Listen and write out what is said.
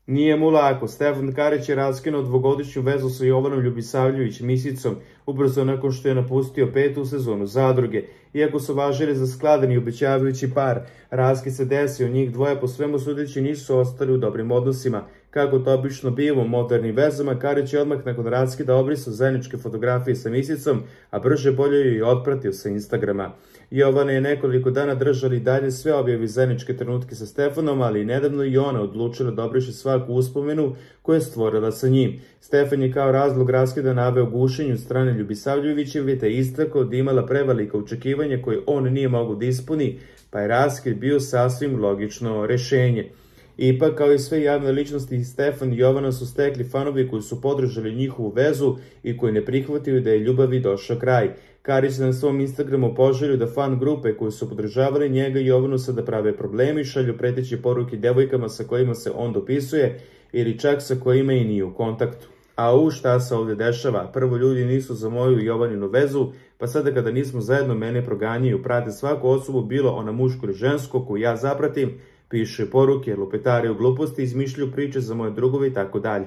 Nije mu lako. Stefan Karić je raskinuo dvogodišnju vezu sa Jovanom Ljubisavljević Misicom ubrzo nakon što je napustio 5. sezonu Zadruge. Iako su važili za skladan i obećavajući par, raskid se desio, njih dvoje po svemu sudeći nisu ostali u dobrim odnosima. Kako to obično biva u modernim vezama, Karić je odmah nakon raskida obrisao zajedničke fotografije sa Misicom, a brže bolje ju je otpratio sa Instagrama. Jovana je nekoliko dana držali dalje sve objavi zajedničke trenutke sa Stefanom, ali i nedavno i ona odlučila da obriše svaku uspomenu koju je stvorila sa njim. Stefan je kao razlog raskida naveo gušenje od strane Ljubisavljevićevi, te istakao da imala prevelika očekivanja koje on nije mogao da ispuni, pa je raskid bio sasvim logično rešenje. Ipak, kao i sve javne ličnosti, Stefan i Jovana su stekli fanovi koji su podržali njihovu vezu i koji ne prihvatili da je ljubavi došao kraj. Karić na svom Instagramu poželio da fan grupe koji su podržavali njega i Jovanu sada prave problemi, šalju preteće poruke devojkama sa kojima se on dopisuje ili čak sa kojima i nije u kontaktu. A šta se ovdje dešava? Prvo, ljudi nisu za moju i Jovaninu vezu, pa sada kada nismo zajedno mene proganjaju, prate svaku osobu, bilo ona muško ili žensko koju ja zapratim, piše poruke, lupetari u gluposti, izmišljaju priče za moje drugove i tako dalje.